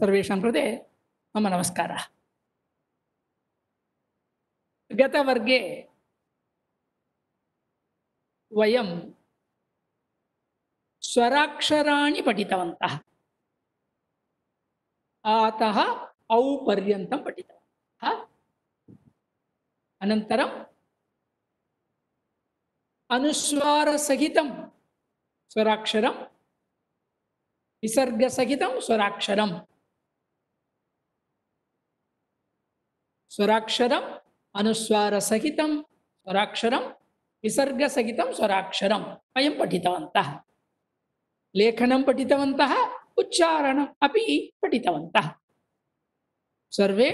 सर्वेषां कृते मम नमस्कारः। गतवर्गे वयं स्वराक्षराणि पठितवन्तः। आतः औ पर्यन्तं पठितवन्तः। अनन्तरम् अनुस्वारसहितं स्वराक्षरं, विसर्गसहितं स्वराक्षरं, स्वराक्षरम् अनुस्वारसहितं स्वराक्षरं, विसर्गसहितं स्वराक्षरं वयं पठितवन्तः। लेखनं पठितवन्तः, उच्चारणम् अपि पठितवन्तः। सर्वे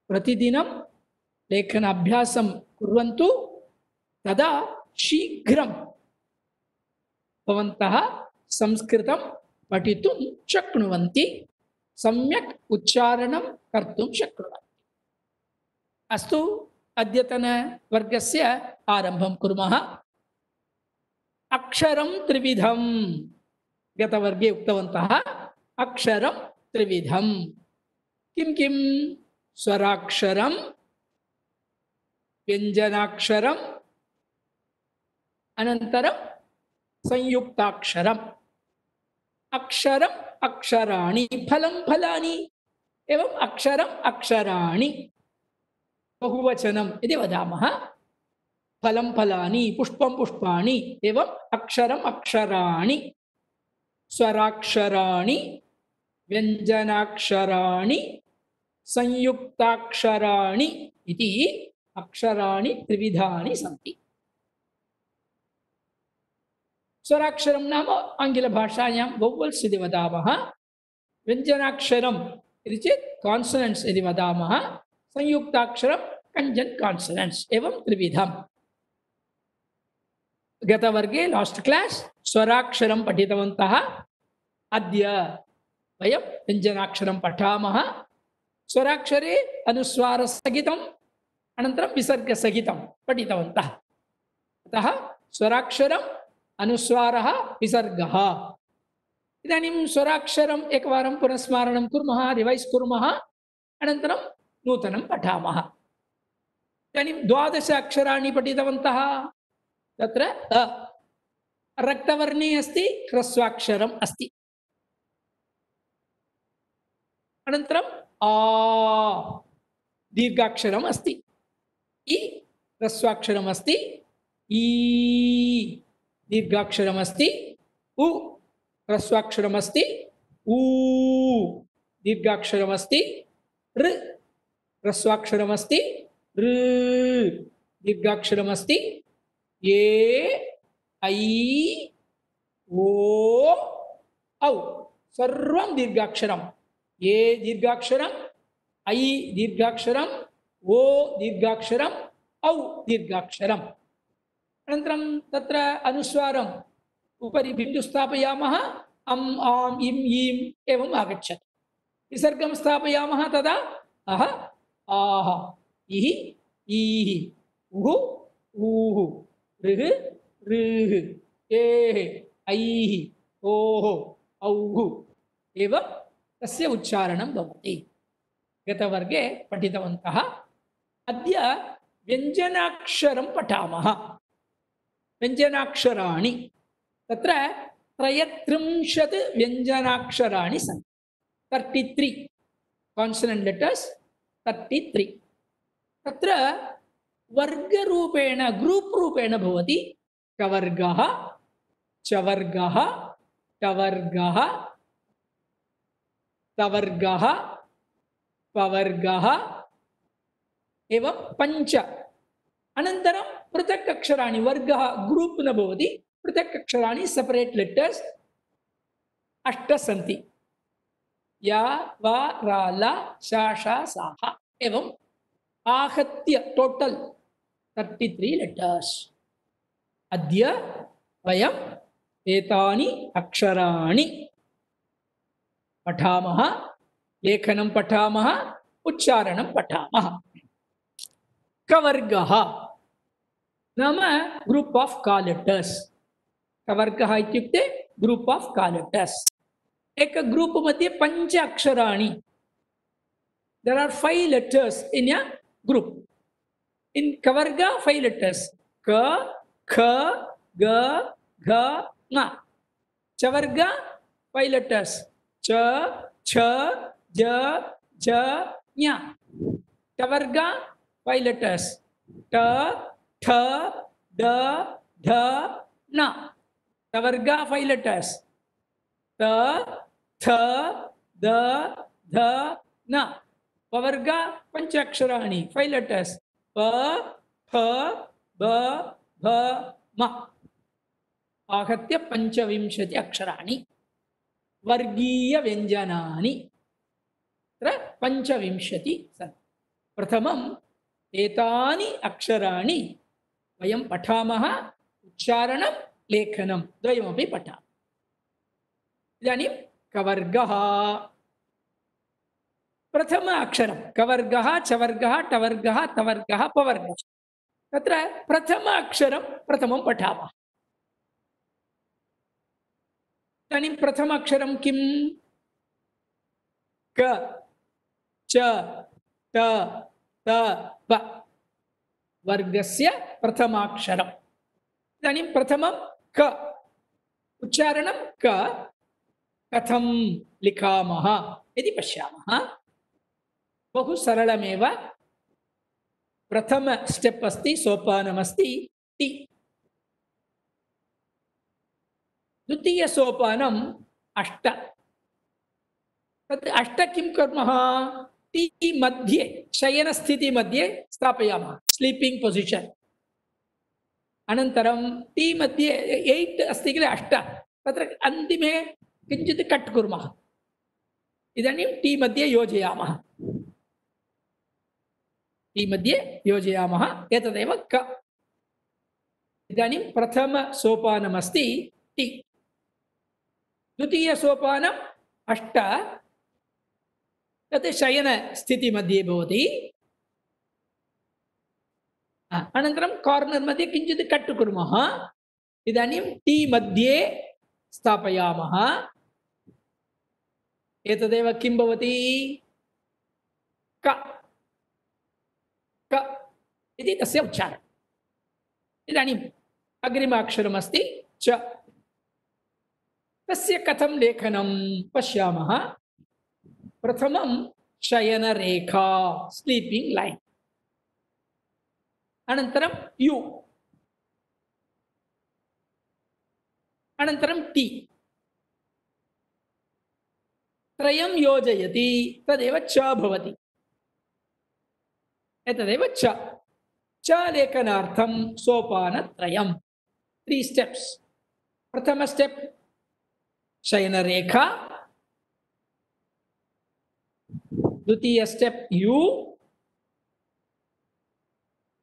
प्रतिदिनं लेखनाभ्यासं कुर्वन्तु, तदा शीघ्रं भवन्तः संस्कृतं पठितुं शक्नुवन्ति, सम्यक् उच्चारणं कर्तुं शक्नुवन्ति। अस्तु, अद्यतनवर्गस्य आरम्भं कुर्मः। अक्षरं त्रिविधं। गतवर्गे उक्तवन्तः अक्षरं त्रिविधं। किं किं? स्वराक्षरं, व्यञ्जनाक्षरम्, अनन्तरं संयुक्ताक्षरम्। अक्षरम् अक्षराणि, फलं फलानि, एवं अक्षरम् अक्षराणि। बहुवचनं यदि वदामः, फलं फलानि, पुष्पं पुष्पाणि, एवम् अक्षरम् अक्षराणि। स्वराक्षराणि, व्यञ्जनाक्षराणि, संयुक्ताक्षराणि इति अक्षराणि त्रिविधानि सन्ति। स्वराक्षरं नाम आङ्ग्लभाषायां वोवल्स् इति वदामः। व्यञ्जनाक्षरम् इति चेत् कान्सोनेण्ट्स् इति वदामः। संयुक्ताक्षरं कञ्जन् कान्सोनेण्ट्स्, एवं त्रिविधम्। गतवर्गे लास्ट् क्लास् स्वराक्षरं पठितवन्तः। अद्य वयं व्यञ्जनाक्षरं पठामः। स्वराक्षरे अनुस्वारसहितम् अनन्तरं विसर्गसहितं पठितवन्तः। अतः स्वराक्षरम्, अनुस्वारः, विसर्गः। इदानीं स्वराक्षरम् एकवारं पुनस्मारणं कुर्मः, रिवैस् कुर्मः, अनन्तरं नूतनं पठामः। इदानीं 12 अक्षराणि पठितवन्तः। तत्र अ रक्तवर्णे अस्ति, ह्रस्वाक्षरम् अस्ति। अनन्तरम् आ दीर्घाक्षरम् अस्ति। इ ह्रस्वाक्षरम् अस्ति। ई दीर्घाक्षरम् अस्ति। उ ह्रस्वाक्षरम् अस्ति। ऊ दीर्घाक्षरम् अस्ति। ऋ ह्रस्वाक्षरम् अस्ति। ऋ दीर्घाक्षरम् अस्ति। ए ऐ ओ औ सर्वं दीर्घाक्षरम्। ए दीर्घाक्षरम्, ऐ दीर्घाक्षरम्, ओ दीर्घाक्षरम्, औ दीर्घाक्षरम्। अनन्तरं तत्र अनुस्वारम् उपरि बिन्दुं स्थापयामः, अम् आम् इम् ईम् एवम् आगच्छति। विसर्गं स्थापयामः, तदा अह आह इः ईः उः ऊः ऋः ऋः एः ऐः ओः औः एवं तस्य उच्चारणं भवति। गतवर्गे पठितवन्तः। अद्य व्यञ्जनाक्षरं पठामः। व्यञ्जनाक्षराणि तत्र 33 व्यञ्जनाक्षराणि सन्ति। 33 कान्सोनेण्ट् लेटर्स्, 33। तत्र वर्गरूपेण, ग्रूप् रूपेण भवति। कवर्गः, चवर्गः, टवर्गः, तवर्गः, पवर्गः एवं 5। अनन्तरं पृथक् अक्षराणि, वर्गः ग्रूप् न भवति, पृथक् अक्षराणि सेपरेट् लेटर्स् 8 सन्ति। या वा रा ला शा षा साः एवम् आहत्य टोटल् 33 लेटर्स्। अद्य वयम् एतानि अक्षराणि पठामः, लेखनं पठामः, उच्चारणं पठामः। कवर्गः नाम ग्रूप् आफ् का लेटर्स्। कवर्गः इत्युक्ते ग्रूप् आफ् का लेटर्स्। एक ग्रुप मध्ये पंच अक्षराणि. There are 5 letters in a group. In Kavarga, 5 letters. Ka, Kha, Ga, Gha, Nga. Chavarga, 5 letters. Cha, Cha, Ja, Ja, Nya. Tavarga, 5 letters. Ta, Tha, Da, Dha, Na. Tavarga, 5 letters. Ta, Tha, Da, Dha, Na. Pavarga, Panchaksharani, 5 letters. Pa, Pha, Ba, Bha, Ma. Ahatya Panchavimshati Aksharani. Vargiya Vyanjanani. Panchavimshati san. Prathamam etani aksharani vayam pathamaha uchcharanam lekhanam dvayamapi patha. Idanim kavargaha प्रथम अक्षरम कवर्गः चवर्गः टवर्गः तवर्गः पवर्गः. तत्र प्रथम अक्षरं प्रथमं पठामः. इदानीं प्रथम अक्षरं किं? क, च, ट, त, प. वर्गस्य प्रथमाक्षरम्. इदानीं प्रथमं क. उच्चारणं क. कथं लिखामः इति पश्यामः. बहु सरलमेव. प्रथम स्टेप अस्ति, सोपानमस्ति ति. द्वितीय सोपानम् अष्ट. तत् अष्ट किं कुर्मः? ति मध्ये शयनस्थिति मध्ये स्थापयामः, स्लीपिंग पोजिशन. अनन्तरं ति मध्ये 8 अस्ति किल, 8. तत्र अन्तिमे किञ्चित् कट् कुर्मः. इदानीं ति मध्ये योजयामः. ति मध्ये योजयामः. एतदेव क. इदानीं प्रथम सोपानमस्ति ति. द्वितीय सोपानम् अष्ट. तत् शयन स्थिति मध्ये भवति. अनन्तरं कार्नर् मध्ये किञ्चित् कट् कुर्मः. इदानीं टी मध्ये स्थापयामः. एतदेव किं भवति? क. क इति तस्य उच्चारणम्. इदानीम् अग्रिमाक्षरमस्ति च. तस्य कथं लेखनं पश्यामः. प्रथमं शयनरेखा, स्लीपिंग लाइन. अनन्तरं यु. अनन्तरं ति. त्रयं योजयति तदेव च भवति. एतदेव च. च लेखनार्थं सोपानत्रयं, 3 steps. प्रथम स्टेप शयनरेखा. द्वितीय स्टेप यु.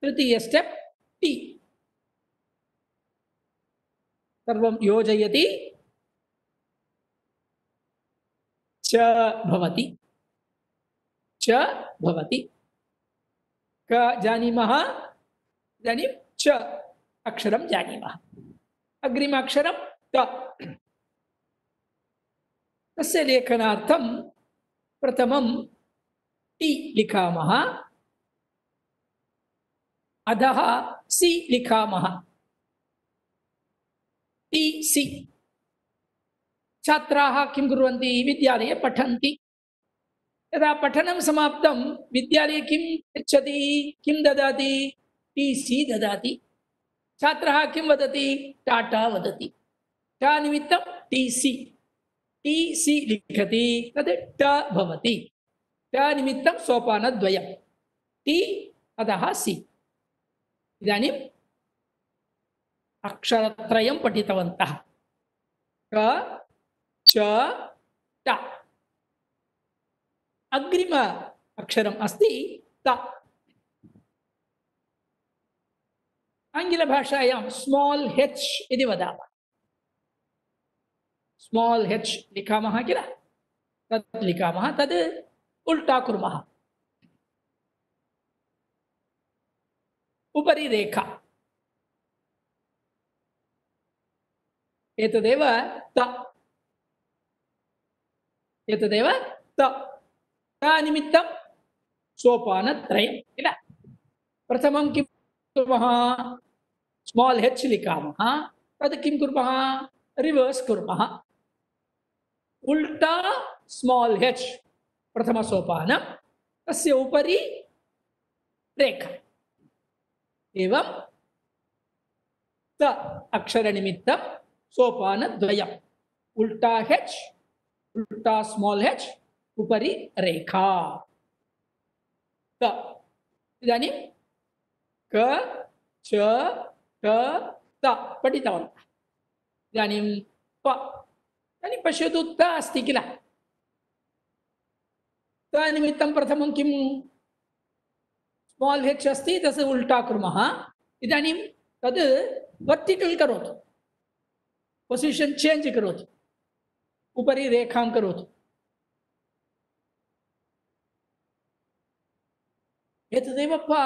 तृतीय स्टेप टी. सर्वं योजयति च भवति. च भवति. क जानीमः. इदानीं च अक्षरं जानीमः. अग्रिम अक्षरं त. तस्य लेखनार्थं प्रथमं टी लिखामः. अधः सी लिखामः. T C. छात्राः किं कुर्वन्ति? विद्यालये पठन्ति. यदा पठनं समाप्तं विद्यालये किं यच्छति? किं ददाति? टी सी ददाति. छात्रः किं वदति? टाटा वदति. टा निमित्तं टी सी. टी सी लिखति, तद् ट भवति. ट निमित्तं सोपानद्वयं. टी अधः सी. इदानीम् अक्षरत्रयं पठितवन्तः. क, च, ट. अग्रिम अक्षरम् अस्ति त. आङ्ग्लभाषायां स्मॉल h इति वदामः. स्मॉल h लिखामः किल, तत् लिखामः. तद् उल्टा कुर्मः. उपरि रेखा. एतदेव त. एतदेव त निमित्तं सोपानत्रयं किल प्रथमं किं कुर्मः स्माल् h लिखामः तद् किं कुर्मः रिवर्स् कुर्मः उल्टा स्माल् h प्रथमसोपानं तस्य उपरि रेखा एवं त अक्षरनिमित्तं सोपानद्वयम् उल्टा h उल्टा स्माल् h उपरि रेखा त इदानीं क च ट त पठितवन्तः इदानीं प इदानीं पश्यतु त अस्ति किल त निमित्तं प्रथमं किं स्माल् h अस्ति तस्य उल्टा कुर्मः इदानीं तद् वर्टिकल् करोतु पोसिशन् चेञ्ज् करोतु उपरि रेखां करोतु एतदेव प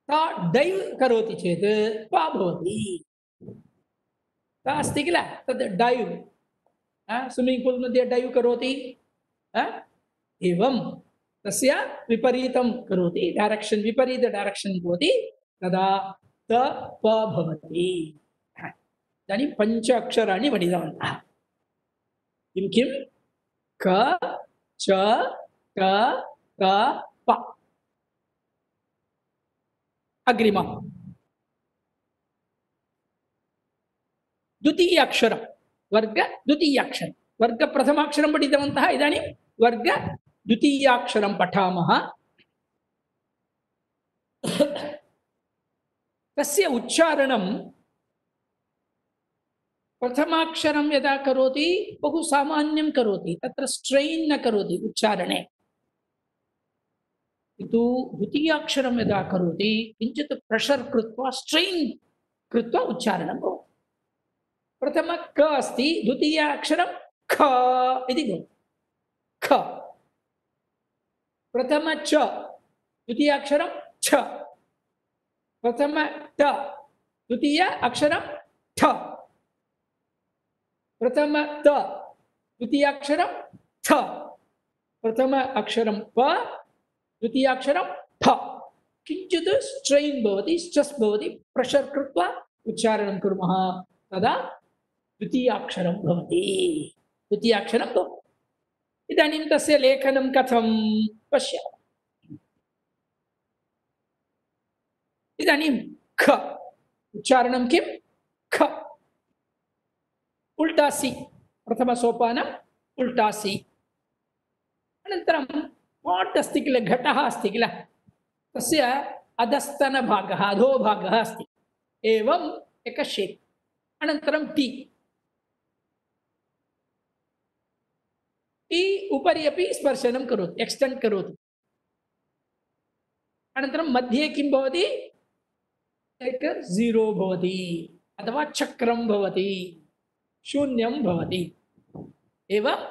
ता डैव् करोति चेत् प भवति ता अस्ति किल तद् डैव् स्विम्मिङ्ग् पूल् मध्ये डैव् करोति एवं तस्य विपरीतं करोति डैरेक्षन् विपरीत डैरेक्षन् भवति तदा त प भवति इदानीं पञ्च अक्षराणि पठितवन्तः किं किं क च ट त प अग्रिमं द्वितीय अक्षरं वर्ग द्वितीयाक्षरं वर्ग प्रथमाक्षरं पठितवन्तः इदानीं वर्ग द्वितीयाक्षरं पठामः तस्य उच्चारणं प्रथमाक्षरं यदा करोति बहु सामान्यं करोति तत्र स्ट्रेन् न करोति उच्चारणे किन्तु द्वितीयाक्षरं यदा करोति किञ्चित् प्रेशर् कृत्वा स्ट्रेन् कृत्वा उच्चारणं भवति प्रथम क अस्ति द्वितीयाक्षरं ख इति भवति ख प्रथम च द्वितीयाक्षरं छ प्रथम ट द्वितीय अक्षरं ठ प्रथम त द्वितीयाक्षरं थ प्रथम अक्षरं प द्वितीयाक्षरं ठ किञ्चित् स्ट्रेन् भवति स्ट्रेस् भवति प्रेशर् कृत्वा उच्चारणं कुर्मः तदा द्वितीयाक्षरं भवति द्वितीयाक्षरं भवति इदानीं तस्य लेखनं कथं पश्यामः इदानीं ख उच्चारणं किं ख उल्टा सि प्रथमसोपानम् उल्टा सि अनन्तरं पाट् अस्ति किल घटः अस्ति किल तस्य अधस्तनभागः अधोभागः अस्ति एवम् एकः शेप् अनन्तरं टी टी उपरि अपि स्पर्शनं करोति एक्स्टेण्ड् करोति अनन्तरं मध्ये किं भवति एक ज़ीरो भवति अथवा चक्रं भवति शून्यं भवति एवम्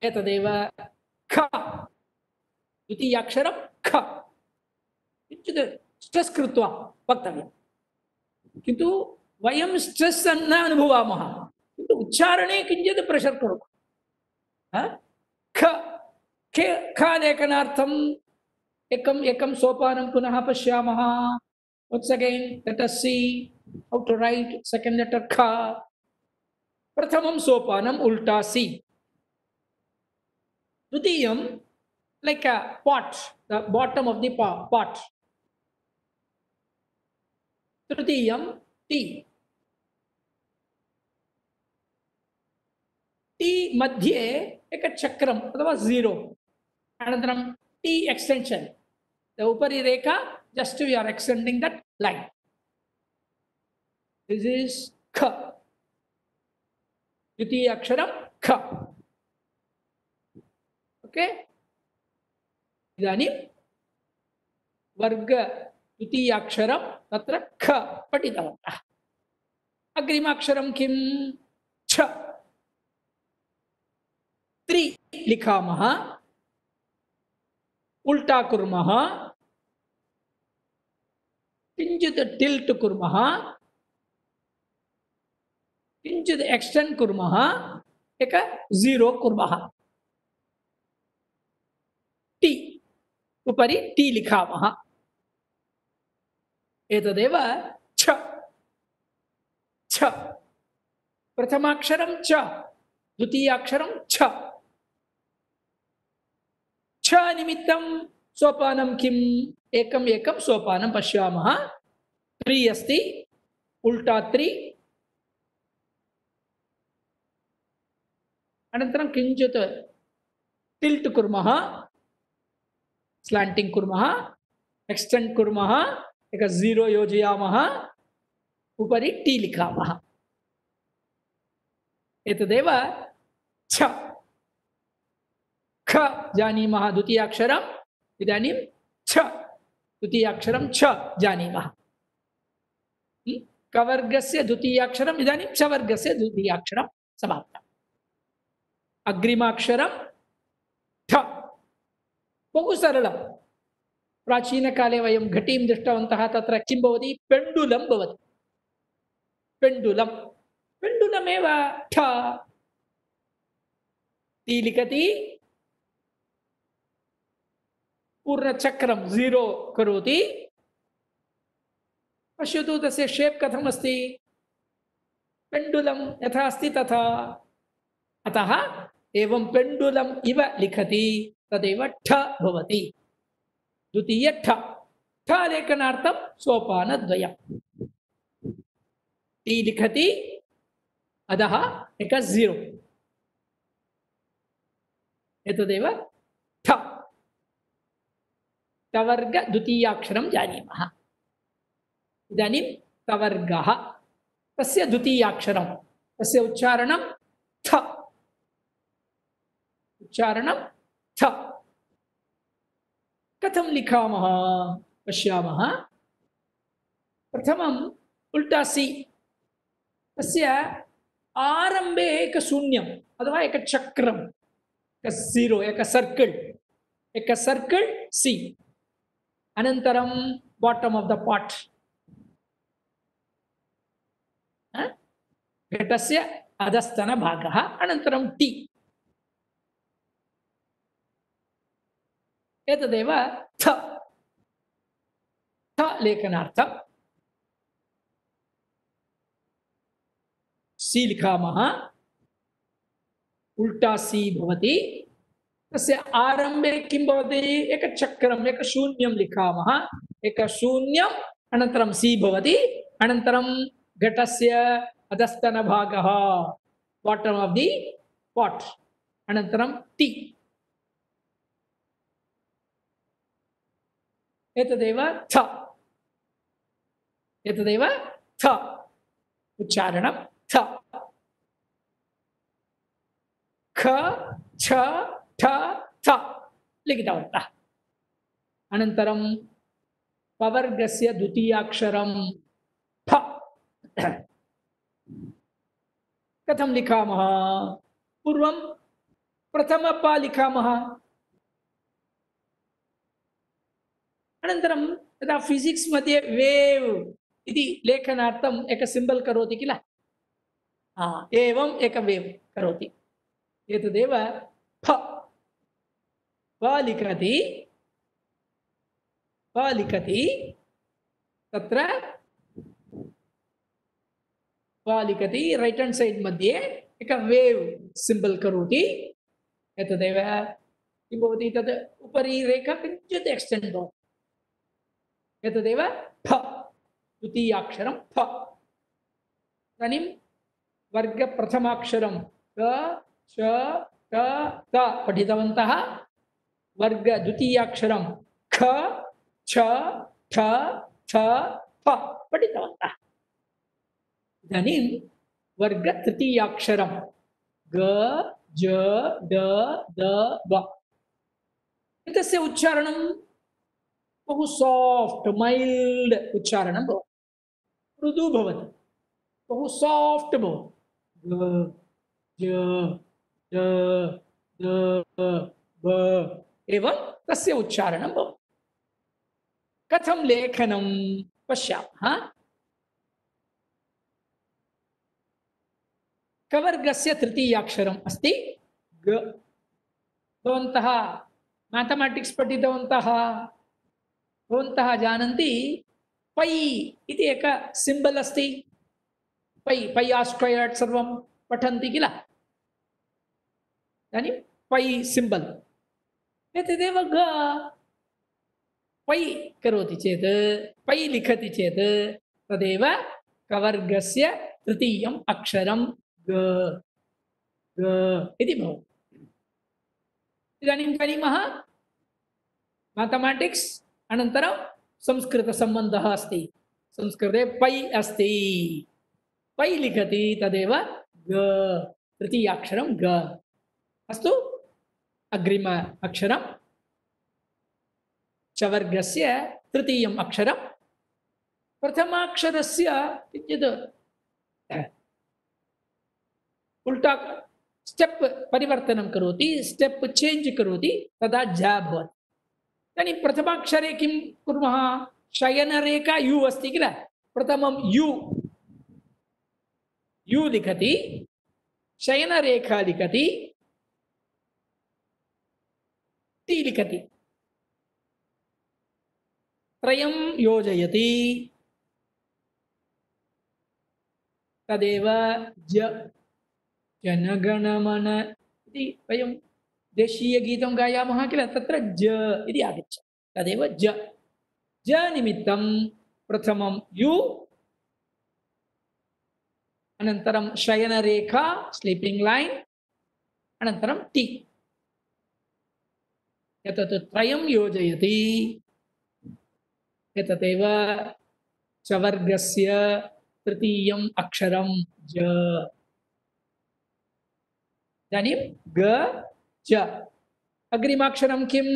एतदेव ख द्वितीयाक्षरं ख किञ्चित् स्ट्रेस् कृत्वा वक्तव्यं किन्तु वयं स्ट्रेस् न अनुभवामः किन्तु उच्चारणे किञ्चित् प्रेशर् कुर्मः ख ख लेखनार्थम् एकं सोपानं पुनः पश्यामः once again let us see how to write second letter kha pratamam sopanam ulta si dvitiyam like a pot the bottom of the pot tritiyam t t मध्ये एक चक्रम अथवा ज़ीरो अनन्तरं t extension the upari rekha just we are extending that line this is kha द्वितीय अक्षरं ख okay इदानीं वर्ग द्वितीय अक्षरं तत्र ख पठितवन्तः अग्रिमाक्षरं किं छ त्रि लिखामः उल्टा कुर्मः किञ्चित् टिल्ट् कुर्मः किञ्चित् एक्स्टेण्ड् कुर्मः एक जीरो कुर्मः टी उपरि टी लिखामः एतदेव छ छ प्रथमाक्षरं च द्वितीयाक्षरं छ छ निमित्तं सोपानं किम् एकम् एकं सोपानं पश्यामः त्रि अस्ति उल्टा त्रि अनन्तरं किञ्चित् टिल्ट् कुर्मः स्लाण्टिङ्ग् कुर्मः एक्स्टेण्ड् कुर्मः एक जीरो योजयामः उपरि टी लिखामः एतदेव छ ख जानीमः द्वितीयाक्षरम् इदानीं छ द्वितीयाक्षरं छ जानीमः कवर्गस्य द्वितीयाक्षरम् इदानीं च वर्गस्य द्वितीयाक्षरं समाप्तम् अग्रिमाक्षरं ठ बहु सरलं प्राचीनकाले वयं घटीं दृष्टवन्तः तत्र किं भवति पेण्डुलं भवति पेण्डुलं पेण्डुलमेव ठ टी लिखति पूर्णचक्रं जीरो करोति पश्यतु तस्य शेप् कथम् अस्ति पेण्डुलं यथा अस्ति तथा अतः एवं पेण्डुलम् इव लिखति तदेव ठ भवति द्वितीय ठ ठ लेखनार्थं सोपानद्वयम् टी लिखति अधः एक जीरो एतदेव ठ तवर्ग द्वितीयाक्षरं जानीमः इदानीं तवर्गः तस्य द्वितीयाक्षरं तस्य उच्चारणं थ उच्चारणं थ कथं लिखामः पश्यामः प्रथमम् उल्टा सी तस्य आरम्भे एक शून्यम् अथवा एक चक्रम् एक जीरो एक सर्कल सी अनन्तरं बॉटम ऑफ द पॉट घटस्य अधस्तन भागः अनन्तरं टी एतदेव थ थ लेखनार्थं सी लिखामः उल्टा सी भवति तस्य आरम्भे किं भवति एक चक्रम् एक शून्यं लिखामः एक शून्यम् अनन्तरं सी भवति अनन्तरं घटस्य अधस्तनभागः बॉटम ऑफ दी पॉट अनन्तरं टी एतदेव थ उच्चारणं थ ख छ ठ थ लिखितवन्तः अनन्तरं पवर्गस्य द्वितीयाक्षरं फ कथं लिखामः पूर्वं प्रथम प लिखामः अनन्तरं यदा फिजिक्स मध्ये वेव इति लेखनार्थम् एक सिंबल करोति किल एवम् एक वेव करोति एतदेव फ लिखति तत्र लिखति राइट हैंड साइड मध्ये एक वेव सिंबल करोति एतदेव किं भवति तद् उपरि रेखा किञ्चित् एक्स्टेण्ड् भवति एतदेव फ द्वितीयाक्षरं फ इदानीं वर्ग प्रथमाक्षरं क च ट त पठितवन्तः वर्ग द्वितीयाक्षरं ख छ ठ थ फ पठितवन्तः इदानीं वर्ग तृतीयाक्षरं ग ज ड द ब एतस्य उच्चारणं बहु सॉफ्ट माइल्ड उच्चारणं भवति मृदु भवति बहु सॉफ्ट भवति ग ज ड द ब एवं तस्य उच्चारणं भवति कथं लेखनं पश्यामः कवर्गस्य तृतीयाक्षरम् अस्ति ग। भवन्तः मैथमेटिक्स् पठितवन्तः, भवन्तः जानन्ति पै इति एक सिम्बल् अस्ति। पै पै आर् स्क्वयर्ड् सर्वं पठन्ति किल, इदानीं पै सिम्बल् एतदेव ग। पै करोति चेत्, पै लिखति चेत् तदेव कवर्गस्य तृतीयम् अक्षरं ग, ग इति भवति। इदानीं जानीमः मैथमेटिक्स् अनन्तरं संस्कृतसम्बन्धः अस्ति। संस्कृते पै अस्ति, पै लिखति तदेव ग, तृतीयाक्षरं ग। अस्तु, अग्रिम अक्षरं चवर्गस्य तृतीयम् अक्षरं। प्रथमाक्षरस्य यद् उल्टा स्टेप् परिवर्तनं करोति, स्टेप् चेञ्ज् करोति, तदा झ भवति। इदानीं प्रथमाक्षरे किं कुर्मः? शयनरेखा यु अस्ति किल, प्रथमं यु लिखति, शयनरेखा लिखति, ति लिखति, त्रयं योजयति, तदेव ज। जनगणमन इति वयं देशीयगीतं गायामः किल, तत्र ज इति आगच्छति, तदेव ज। ज निमित्तं प्रथमं यु, अनन्तरं शयनरेखा स्लीपिंग लाइन, अनन्तरं टी। एतत् त्रयं योजयति, एतदेव चवर्गस्य तृतीयम् अक्षरं ज। इदानीं ग च। अग्रिमाक्षरं किं?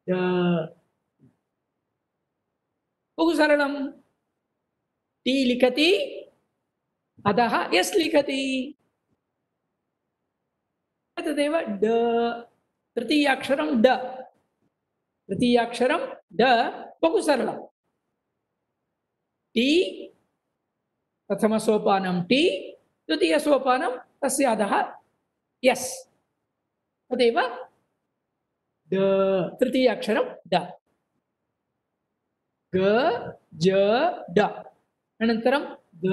ड। बहु सरलं। टी लिखति, अधः एस् लिखति, तदेव ड, तृतीयाक्षरं ड। तृतीयाक्षरं ड, बहु सरलं। टी प्रथमसोपानं टी, द्वितीयसोपानं तस्य अधः एस्, तदेव ड, तृतीयाक्षरं ड। ग ज ड, अनन्तरं द।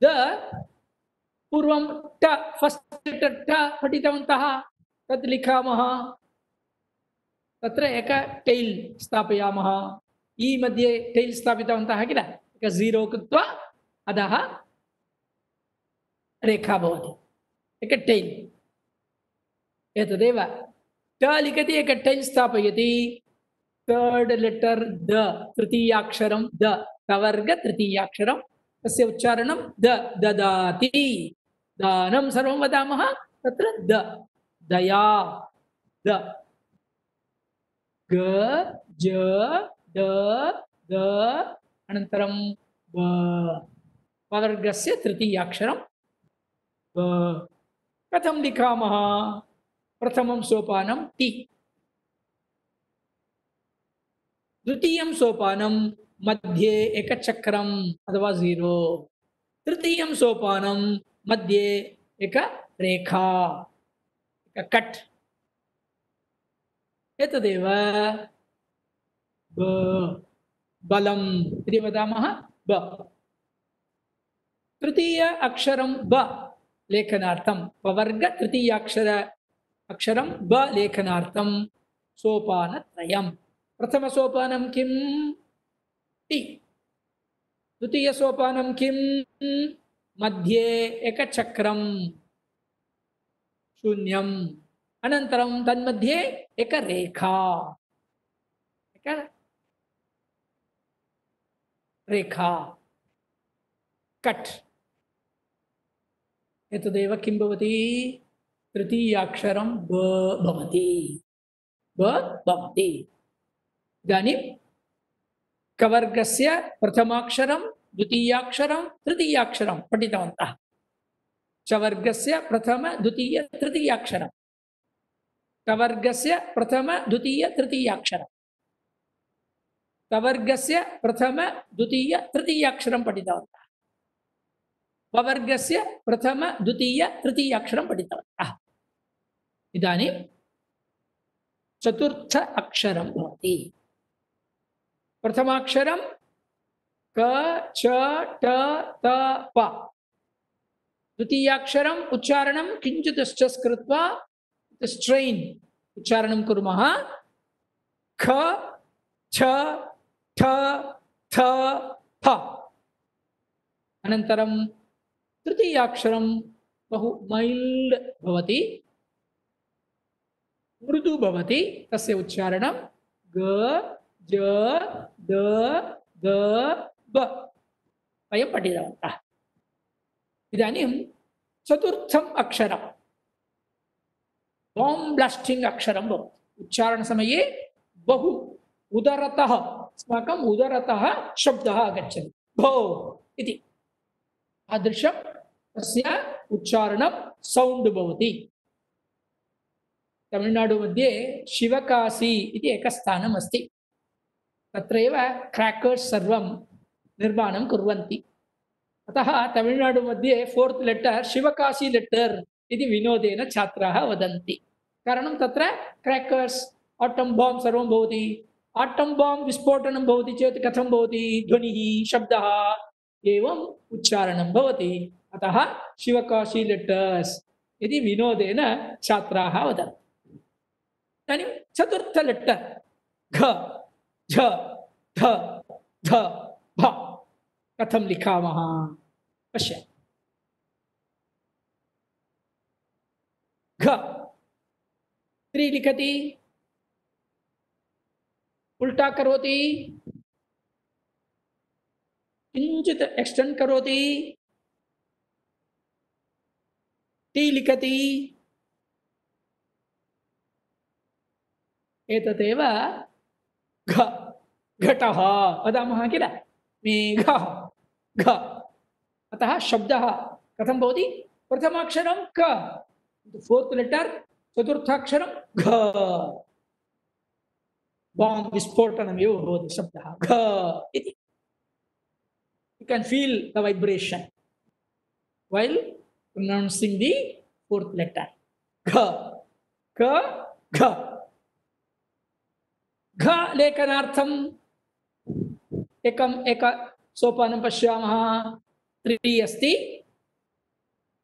द पूर्वं ट, फस्ट् लेटर् ट पठितवन्तः, तत् लिखामः, तत्र एक टैल् स्थापयामः। ई मध्ये टैल् स्थापितवन्तः किल, एक जीरो कृत्वा अधः रेखा भवति, एक टैल्। एतदेव ट लिखति, एक टैल् स्थापयति, थर्ड लेटर द, तृतीयाक्षरं द, कवर्ग तृतीयाक्षरं, तस्य उच्चारणं द, ददाति, दानं सर्वं वदामः, तत्र द, दया, द। ग ज ड द, अनन्तरं ब, कवर्गस्य तृतीयाक्षरं ब। कथं लिखामः? प्रथमं सोपानं ति, द्वितीयं सोपानं मध्ये एक चक्रम् अथवा जीरो, तृतीयं सोपानं मध्ये एक रेखा, एक कट। एतदेव ब, बलम् इति वदामः, ब। तृतीय अक्षरं ब लेखनार्थं, पवर्ग अक्षरं ब लेखनार्थं सोपानत्रयं। प्रथमसोपानं किं? ति। द्वितीयसोपानं किं? मध्ये एक चक्रं शून्यम्, अनन्तरं तन्मध्ये एक रेखा, एक रेखा, कट। एतदेव किं भवति? तृतीयाक्षरं ब भवति, ब भवति। इदानीं कवर्गस्य प्रथमाक्षरं, द्वितीयाक्षरं, तृतीयाक्षरं पठितवन्तः। चवर्गस्य प्रथम द्वितीय तृतीयाक्षरं, कवर्गस्य प्रथम द्वितीय तृतीयाक्षरं, कवर्गस्य प्रथम द्वितीय तृतीयाक्षरं पठितवन्तः। पवर्गस्य प्रथम द्वितीय तृतीय अक्षरं पठितवन्तः। इदानीं चतुर्थ अक्षरं भवति। प्रथमाक्षरं क च ट त प। द्वितीयाक्षरम् उच्चारणं किञ्चित् स्ट्रेस् कृत्वा स्ट्रेन् उच्चारणं कुर्मः। ख छ ठ थ फ। अनन्तरं तृतीयाक्षरं बहु मैल्ड् भवति, मृदु भवति, तस्य उच्चारणं ग ज द ग ब। वयं पठितवन्तः। इदानीं चतुर्थम् अक्षरं बांब ब्लास्टिंग अक्षरं भवति। उच्चारणसमये बहु उदरतः अस्माकम् उदरतः शब्दः आगच्छति भो इति। तादृशं तस्य उच्चारणं सौण्ड् भवति। तमिळ्नाडु मध्ये शिवकाशी इति एकं स्थानम् अस्ति। तत्रैव क्रैकर्स् सर्वं निर्माणं कुर्वन्ति। अतः तमिळ्नाडु मध्ये 4th लेटर् शिवकाशी लेटर् इति विनोदेन छात्राः वदन्ति। कारणं तत्र क्रैकर्स् आटम् बांब् सर्वं भवति। आटम् बांब् विस्फोटनं भवति चेत् कथं भवति ध्वनिः शब्दः एवम् उच्चारणं भवति। अतः शिवकाशी लेटर्स् इति विनोदेन छात्राः वदन्ति। इदानीं चतुर्थ लेटर् घ झ ध ध भ कथं लिखामः पश्य। घ 3 लिखति, उल्टा करोति, किञ्चित् एक्सटेंड करोति, टी लिखति। एतदेव घ घटः वदामः किल, मेघः घ। अतः शब्दः कथं भवति, प्रथमाक्षरं क, 4th लेटर्, चतुर्थाक्षरं घ। बांब विस्फोटनमेव भवति शब्दः घ इति। You can feel the vibration while pronouncing the 4th letter. Gha, ka, gha. Gha लेखनार्थम् एक सोपानं पश्यामः। 3 अस्ति।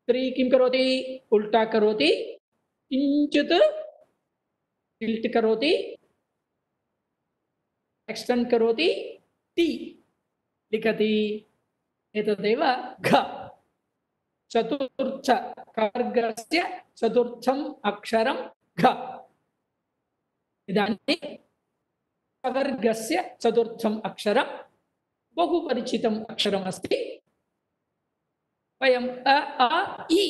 3 किं करोति, उल्टा करोति, किञ्चित् टिल्ट् करोति, एक्सटेंड करोति, टी लिखति। एतदेव घ। चतुर्थ वर्गस्य चतुर्थम् अक्षरं घ। इदानीं वर्गस्य चतुर्थम् अक्षरं बहु परिचितम् अक्षरम् अस्ति। वयम् अ आ इ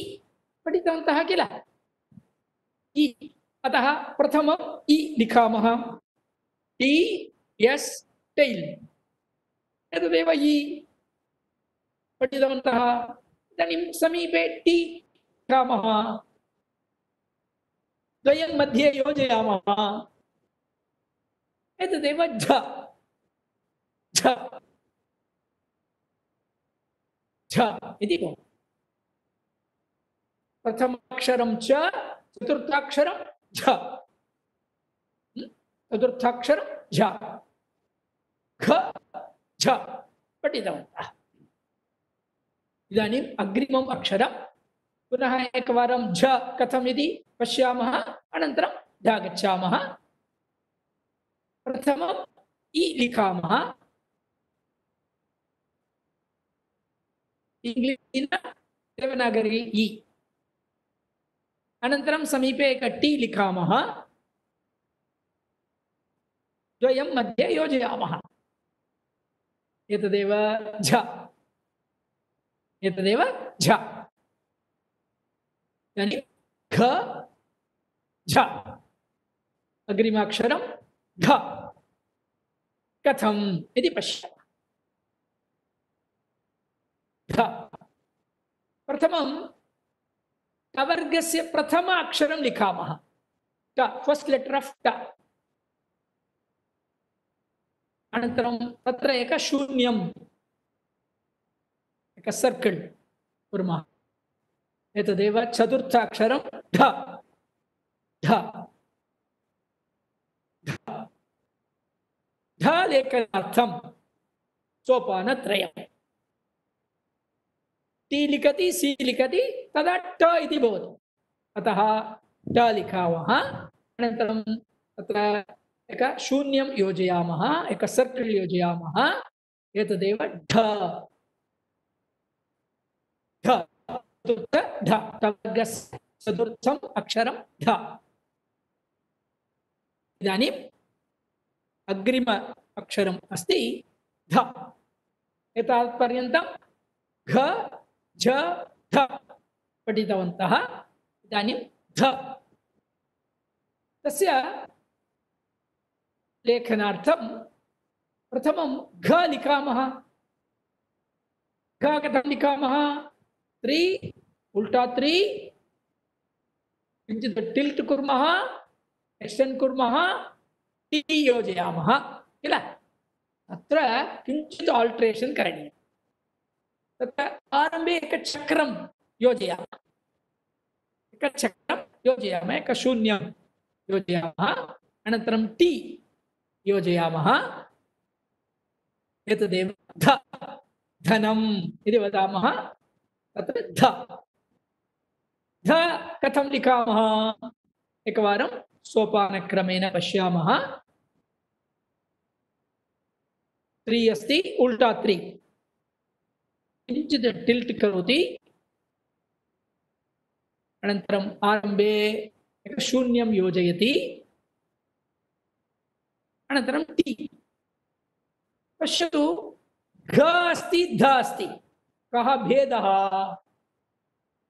पठितवन्तः किल, इ। अतः प्रथमम् इ लिखामः। T S tell. एतदेव इ पठितवन्तः। इदानीं समीपे टी लिखामः, द्वयं मध्ये योजयामः। एतदेव झ झ झ इति भवति। प्रथमाक्षरं च, चतुर्थाक्षरं झ, चतुर्थाक्षरं झ, घ झ पठितवन्तः। इदानीम् अग्रिमम् अक्षरं पुनः एकवारं झ कथम् इति पश्यामः, अनन्तरं ध गच्छामः। प्रथमम् इ लिखामः, इंग्लिश देवनागरी इ। अनन्तरं समीपे एक टी लिखामः, द्वयं मध्ये योजयामः। एतदेव झ, एतदेव झ। इदानीं घ झ। अग्रिमाक्षरं घ कथम् इति पश्यामः। घ प्रथमं टवर्गस्य प्रथम अक्षरं लिखामः। ट, फर्स्ट लेटर ऑफ ट। अनन्तरं तत्र एक शून्यम्, एक सर्कल कुर्मः। एतदेव चतुर्थाक्षरं ढ ढ ढ लेखनार्थं सोपानत्रयम्। टी लिखति सी लिखति तदा ट इति भवति। अतः ट लिखामः। अनन्तरं तत्र एक शून्यं योजयामः, एक सर्कल योजयामः। एतदेव ढ ढ चतुर्थ ढ टवर्गस्य चतुर्थम् अक्षरं ढ। इदानीम् अग्रिम अक्षरम् अस्ति ध। एतावत्पर्यन्तं घ झ ध पठितवन्तः। इदानीं ध तस्य लेखनार्थं प्रथमं घ लिखामः। घ कथं लिखामः? 3 उल्टा 3 किञ्चित् टिल्ट् कुर्मः, एक्स्टेण्ड् कुर्मः, टी योजयामः किल। अत्र किञ्चित् आल्ट्रेशन् करणीयम्। तत्र आरम्भे एकचक्रं योजयामः, एकचक्रं योजयामः, एकशून्यं योजयामः, अनन्तरं टी योजयामः। एतदेव ध धनम् इति वदामः। तत्र ध ध कथं लिखामः? एकवारं सोपानक्रमेण पश्यामः। 3 अस्ति, उल्टा 3 किञ्चित् टिल्ट् करोति, अनन्तरम् आरम्भे एक शून्यं योजयति, अनन्तरं टी। पश्यतु, घ अस्ति ध अस्ति, कः भेदः?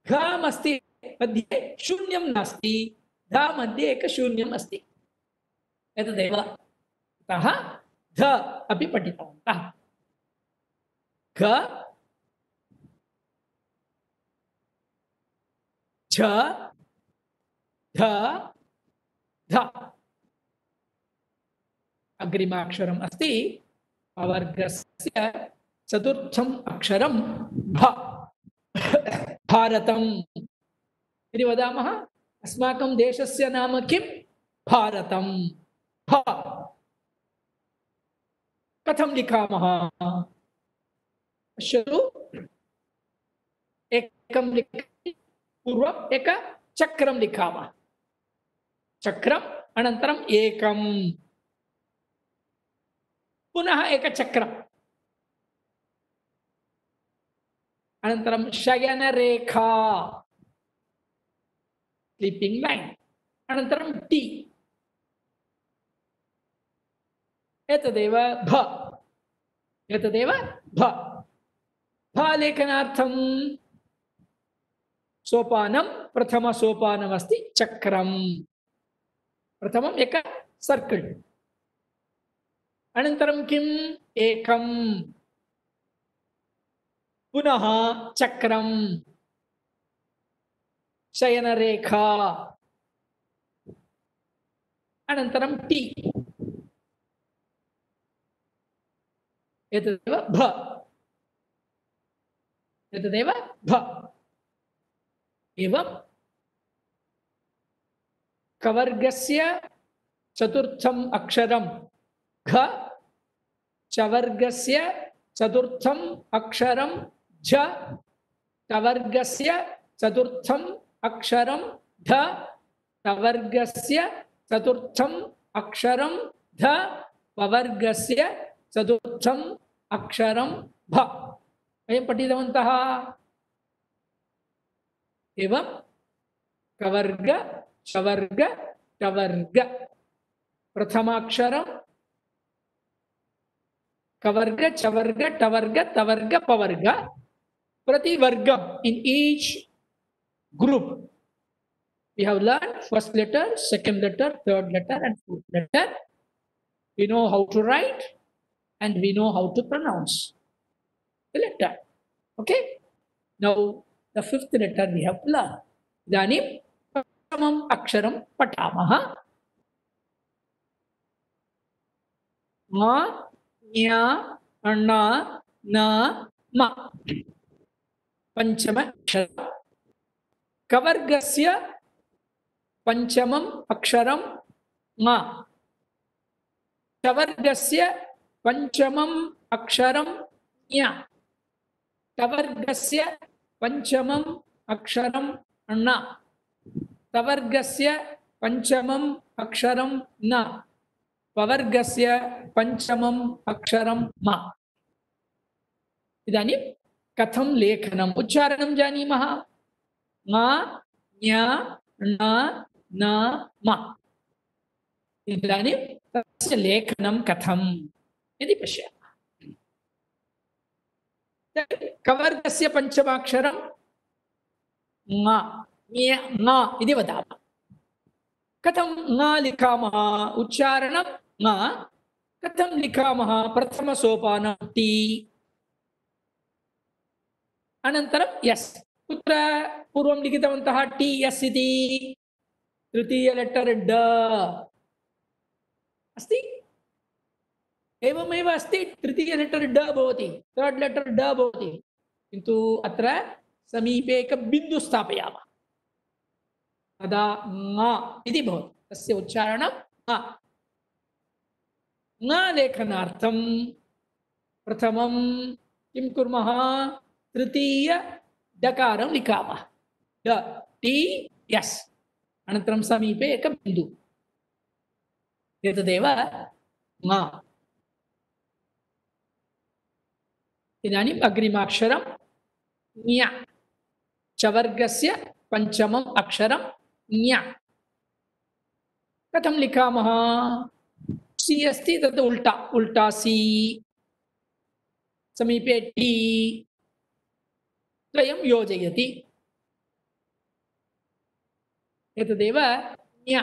घ अस्ति मध्ये शून्यं नास्ति, ध मध्ये एक शून्यम् अस्ति। एतदेव अतः ध अपि पठितवन्तः। घ झ ध ध। अग्रिमाक्षरम् अस्ति वर्गस्य चतुर्थम् अक्षरं भ। भारतम् इति वदामः। अस्माकं देशस्य नाम किं? भारतं। भ कथं लिखामः? पश्यतु, एकं पूर्वम् एक चक्रं लिखामः, चक्रम् अनन्तरम् एकं, पुनः एक चक्रम्, अनन्तरं शयनरेखा स्लीपिंग लाइन, अनन्तरं टी। एतदेव भ। एतदेव भ। भ लेखनार्थं सोपानं, प्रथम सोपानमस्ति चक्रं। प्रथमम् एक सर्कल, अनन्तरं किम्? एकं, पुनः चक्रं, शयनरेखा, अनन्तरं टी। एतदेव भ। एतदेव भ। एवं कवर्गस्य चतुर्थम् अक्षरं घ, चवर्गस्य चतुर्थम् अक्षरं झ, टवर्गस्य चतुर्थम् अक्षरं ध, टवर्गस्य चतुर्थम् अक्षरं ध, पवर्गस्य चतुर्थम् अक्षरं भ। वयं पठितवन्तः। एवं कवर्ग चवर्ग टवर्ग, प्रथमाक्षरं कवर्ग चवर्ग टवर्ग तवर्ग पवर्ग, प्रतिवर्गम in each group we have learned first letter, second letter, third letter and fourth letter. We know how to write and we know how to pronounce the letter. Okay, now the fifth letter we have learned. इदानीं प्रथमम् अक्षरं पठामः। म, ञ, ण, न, म। पंचम अक्षरम कवर्गस्य पंचमम अक्षरम ङ चवर्गस्य पंचमम अक्षरम ञ टवर्गस्य पंचमम अक्षरम ण तवर्गस्य पंचमम अक्षरम न पवर्गस्य पंचमम अक्षरम म इदानीं कथं लेखनम् उच्चारणं जानीमः ङ ञ ण न म इदानीं तस्य लेखनं कथम् इति पश्यामः कवर्गस्य पंचमाक्षरं ङ ङ इति वदामः कथं ङ लिखामः उच्चारणं ङ कथं लिखामः प्रथमसोपानं टी अनन्तरं यस् कुत्र पूर्वं लिखितवन्तः टी यस् इति तृतीय लेटर् ड अस्ति एवमेव अस्ति तृतीय लेटर् ड भवति थर्ड लेटर् ड भवति किन्तु अत्र समीपे एकं बिन्दु स्थापयामः तदा ङ इति भवति तस्य उच्चारणं ङ ङ लेखनार्थं प्रथमं किं कुर्मः तृतीय डकारं लिखामः ड टी यस् अनन्तरं समीपे एकं बिन्दु एतदेव ङ इदानीम् अग्रिमाक्षरं ञ चवर्गस्य पंचमम् अक्षरं ञ कथं लिखामः सी अस्ति तत् उल्टा उल्टा सी समीपे टी द्वयं योजयति एतदेव ञ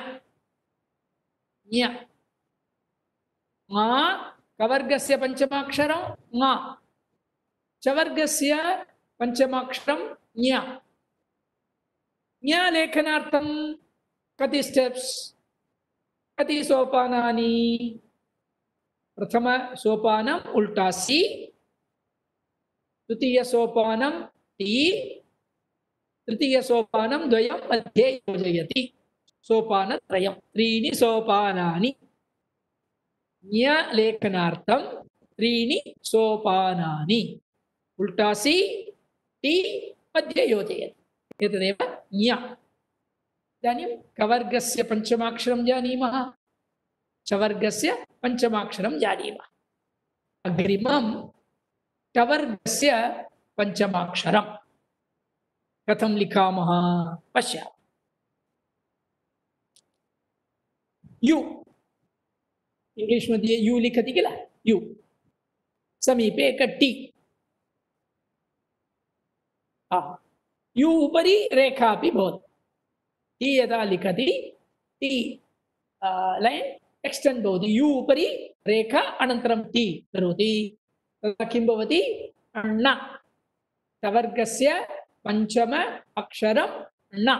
ञ ङ कवर्गस्य पंचमाक्षरं ङ चवर्गस्य पंचमाक्षरं ञ ञ लेखनार्थं कति स्टेप्स् कति सोपानानि प्रथम सोपानम् उल्टा सी द्वितीय सोपानं टी तृतीय सोपानं द्वयं मध्ये योजयति सोपानत्रयं त्रीणि सोपानानि ञ लेखनार्थं त्रीणि सोपानानि उल्टा सी टी मध्ये योजयति एतदेव ञ इदानीं कवर्गस्य पंचमाक्षरं जानीमः चवर्गस्य पंचमाक्षरं जानीमः अग्रिमं टवर्गस्य पंचमाक्षरं कथं लिखामः पश्यामः यु इंग्लिश मध्ये यु लिखति किल यु समीपे एक टी यु उपरि रेखा अपि भवति टी यदा लिखति टी लैन् एक्स्टेण्ड् भवति यु उपरि रेखा अनन्तरं टी करोति तदा किं भवति ण टवर्गस्य पंचम अक्षरं ण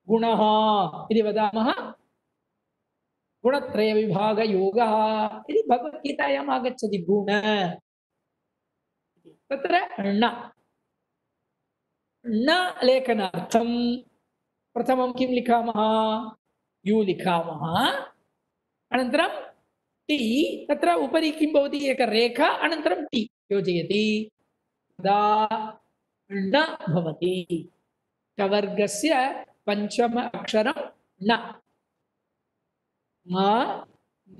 गुणः इति वदामः गुणत्रयविभागयोगः इति भगवद्गीतायाम् आगच्छति गुण तत्र ण न लेखनार्थं प्रथमं किं लिखामः यु लिखामः अनन्तरं टी तत्र उपरि किं भवति एक रेखा अनन्तरं टी योजयति तदा न भवति टवर्गस्य पंचम अक्षरं न म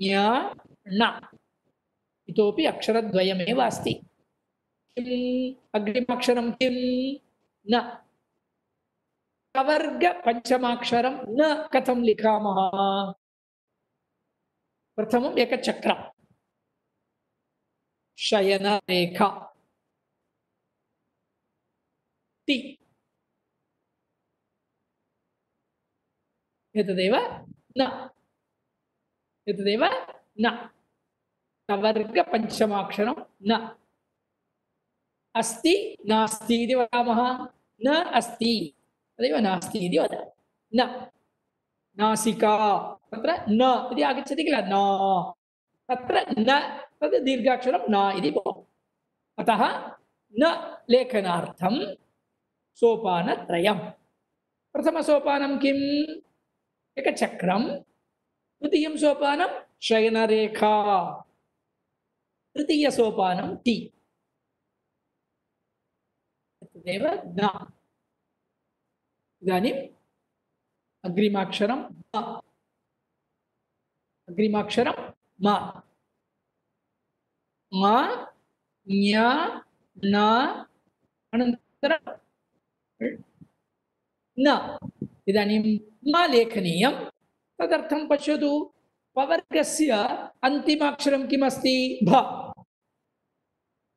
ञ ण इतोपि अक्षरद्वयमेव अस्ति किम् अग्रिमाक्षरं किं न कवर्ग पंचमाक्षरं न कथं लिखामः प्रथमम् एक चक्रं शयनरेखा टी एतदेव न एतदेव न कवर्ग पंचमाक्षरं न अस्ति नास्ति इति वदामः न अस्ति तदेव नास्ति इति वदामः न नासिका तत्र न इति आगच्छति किल न तत्र न तद् दीर्घाक्षरं न इति भवति अतः न लेखनार्थं सोपानत्रयम्। प्रथमसोपानं किम्? एकचक्रं। द्वितीयं सोपानं शयनरेखा। तृतीयसोपानं टी। तदेव न। इदानीम् अग्रिमाक्षरं म। अग्रिमाक्षरं म। म, ञ, न, अनन्तरं न। इदानीं म लेखनीयं। तदर्थं पश्यतु, पवर्गस्य अन्तिमाक्षरं किमस्ति? भ।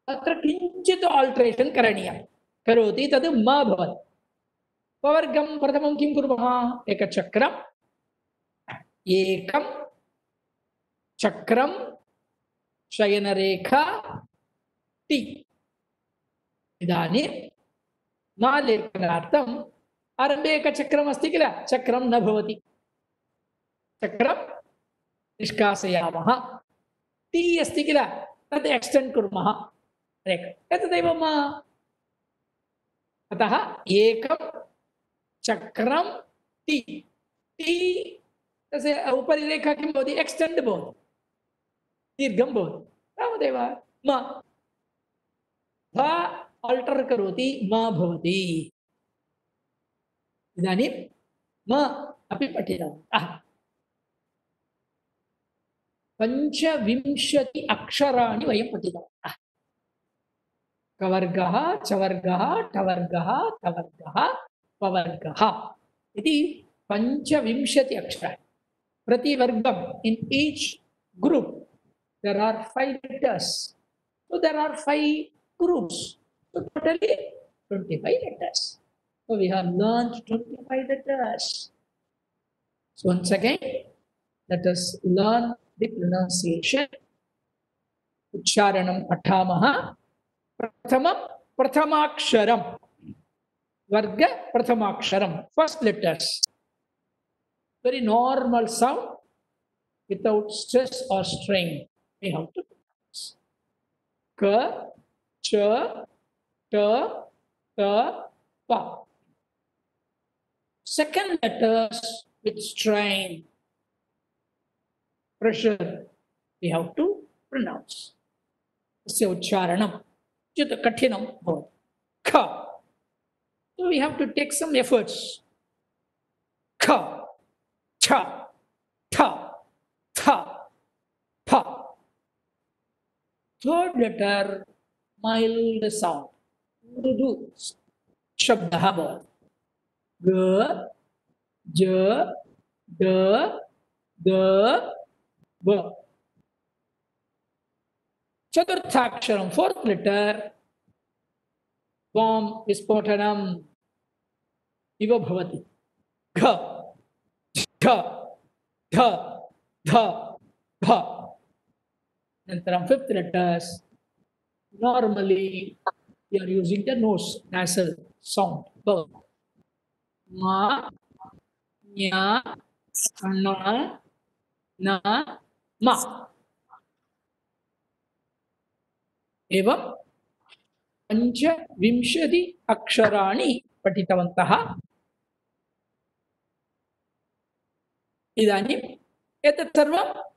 तत्र किञ्चित् आल्ट्रेशन् करणीयं। करोति तद् म भवति। पवर्गं प्रथमं किं कुर्मः? एकचक्रम्, एकं चक्रं, शयनरेखा, टी। इदानीं म लेखनार्थम् आरम्भे एकचक्रम् अस्ति किल? चक्रं न भवति। चक्रं निष्कासयामः। टी अस्ति किल? तद् एक्स्टेण्ड् कुर्मः। एतदेव म। अतः एकं चक्रं टी। टी तस्य उपरि रेखा किं भवति? एक्स्टेण्ड् भवति, दीर्घं भवति। तावदेव म। भ आल्टर् करोति, म भवति। इदानीं म अपि पठितवन्तः। 25 अक्षराणि वयं पठितवन्तः। कवर्गः, चवर्गः, टवर्गः, तवर्गः, पवर्गः इति 25 अक्षराणि। प्रतिवर्गम्, in each group there are 5 letters. So there are 5 groups. So totally 25 letters. So we have learned 25 letters. So once again, let us learn the pronunciation. Ucharanam pathamah. Prathamam, prathamaksharam. Varga, prathamaksharam. First letters. Very normal sound without stress or strain. We have to pronounce. Ka, cha, ta, ta, pa. Second letters with strain, pressure, we have to pronounce. Tasya ucharanam chit kathinam bhavati. Kha. So we have to take some efforts. Kha, cha, tha, tha, pa. Third letter, mild sound. Mrudu shabdah bhavati. Ga, ja, da, da, ba. Chaturthaksharam, fourth letter, bomb visphotanam iva bhavati. Gha, dha, dha, dha, bha. Nantaram fifth letters, normally we are using the nose, nasal sound. Ma, nya, na, na, ma. एवं 25 अक्षराणि पठितवन्तः। इदानीम् एतत् सर्वं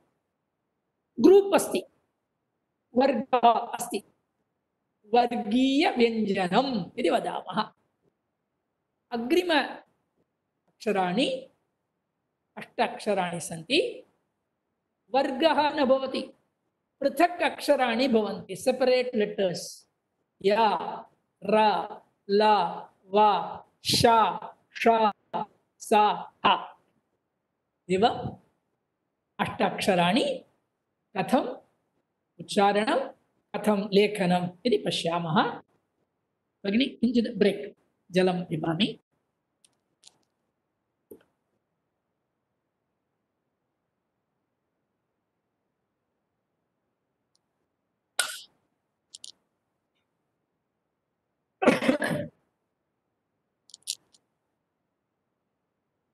group अस्ति, वर्गः अस्ति, वर्गीयव्यञ्जनम् इति वदामः। अग्रिम अक्षराणि 8 अक्षराणि सन्ति। वर्गः न भवति, पृथक् अक्षराणि भवन्ति, सेपरेट् लेटर्स्। या, रा, ला, वा, शा, षा, सा, हा। इव 8 अक्षराणि कथम् उच्चारणं, कथं लेखनम् इति पश्यामः। भगिनी किञ्चित् ब्रेक्, जलं पिबामि।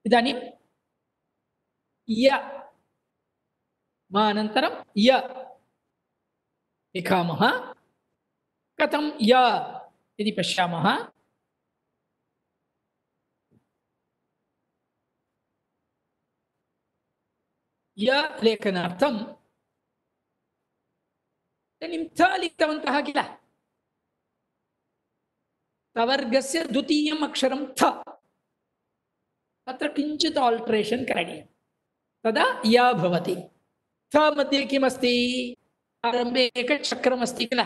इदानीं य, मानन्तरं य लिखामः। कथं य? इति पश्यामः। य लेखनार्थं इदानीं थ लिखितवन्तः किल, तवर्गस्य द्वितीयम् अक्षरं थ, तत्र किञ्चित् आल्ट्रेशन् करणीयं, तदा य भवति। थ मध्ये किमस्ति, आरम्भे एकचक्रमस्ति किल,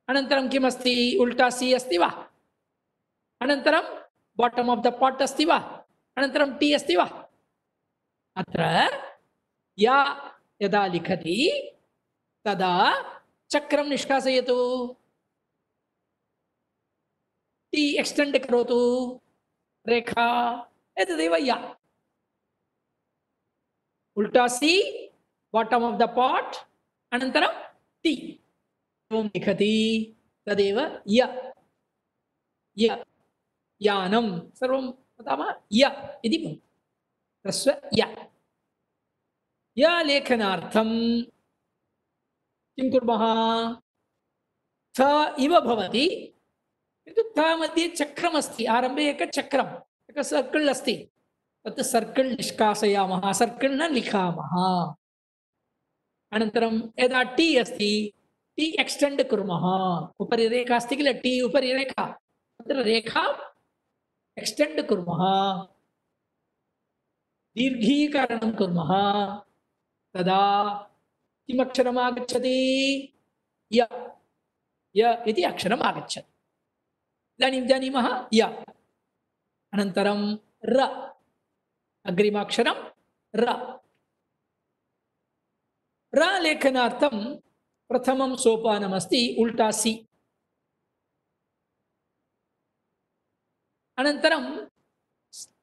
अनन्तरं किमस्ति, उल्टा सी अस्ति वा, अनन्तरं बाटम् आफ् द पाट् अस्ति वा, अनन्तरं टी अस्ति वा। अत्र या यदा लिखति तदा चक्रं निष्कासयतु, टी एक्सटेंड करोतु, रेखा, एतदेव या। उल्टा C, bottom of the pot, अनन्तरं टी एवं लिखति, तदेव य। य यानं सर्वं वदामः य इति भवति, ह्रस्व य। य लेखनार्थं किं कुर्मः, थ इव भवति किन्तु थ मध्ये चक्रमस्ति, आरम्भे एकचक्रम्, एक सर्कल् अस्ति, तत् सर्कल् निष्कासयामः, सर्कल् न लिखामः। अनन्तरं यदा टी अस्ति, टी एक्सटेंड कुर्मः, उपरि रेखा अस्ति किल, टी उपरि रेखा, तत्र रेखा एक्सटेंड कुर्मः, दीर्घीकरणं कुर्मः, तदा किम् अक्षरम् आगच्छति, य। य इति अक्षरम् आगच्छति। इदानीं जानीमः य। अनन्तरं र, अग्रिमाक्षरं र। र लेखनार्थं प्रथमं सोपानमस्ति उल्टा सी, अनन्तरं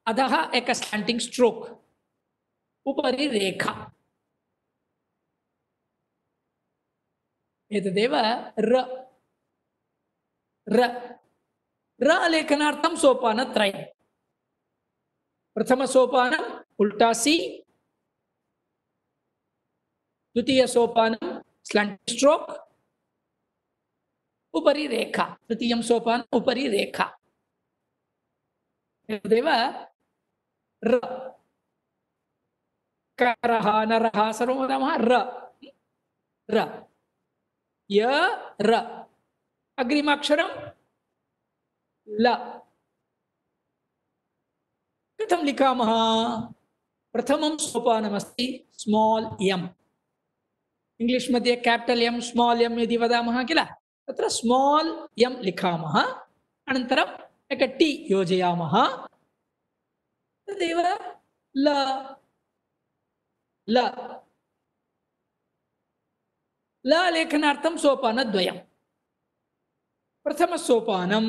अधः एक स्लाण्टिङ्ग् स्ट्रोक्, उपरि रेखा, एतदेव र। र र लेखनार्थं सोपानत्रयम्, प्रथमसोपानम् उल्टा सी, द्वितीयसोपानं स्लाण्टिङ्ग् स्ट्रोक्, उपरि रेखा, तृतीयं सोपानम् उपरि रेखा, एतदेव र। करः नरः सर्वं वदामः र। र य र। अग्रिमाक्षरं ल। कथं लिखामः, प्रथमं सोपानमस्ति स्माल् एम्, इंग्लिश् मध्ये कैपिटल एम् स्माल् एम् इति वदामः किल, तत्र स्माल् एम् लिखामः, अनन्तरम् एक टी योजयामः, तदेव ल। ल ल लेखनार्थं सोपानद्वयम्, प्रथमसोपानं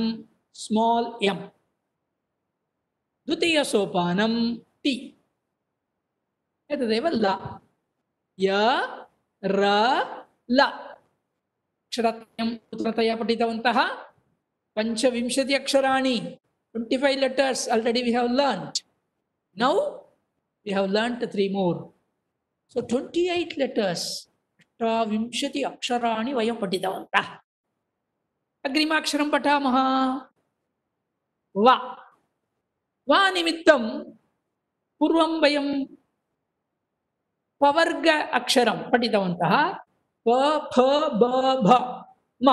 स्माल् एम्, द्वितीयसोपानं टी, एतदेव ल। य र ल अक्षरत्रयं उत्तमतया पठितवन्तः। 25 अक्षराणि, 25 letters already we have learnt. Now we have learnt 3 more. So 28 letters, 28 अक्षराणि वयं पठितवन्तः। अग्रिमाक्षरं पठामः वा। वा निमित्तं पूर्वं वयं पवर्ग अक्षरं पठितवन्तः, प फ ब भ म।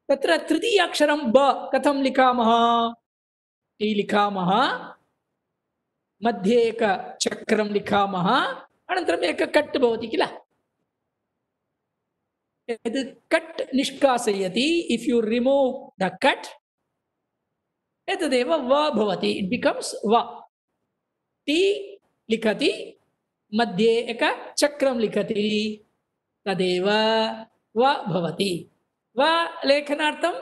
तत्र तृतीय अक्षरं ब कथं लिखामः, टी लिखामः, मध्ये एक चक्रं लिखामः, अनन्तरम् एक कट् भवति किल, यद् कट् निष्कासयति, if you remove the cut, एतदेव व भवति, इट् बिकम्स् व। टी लिखति, मध्ये एक चक्रं लिखति, तदेव व भवति। व लेखनार्थं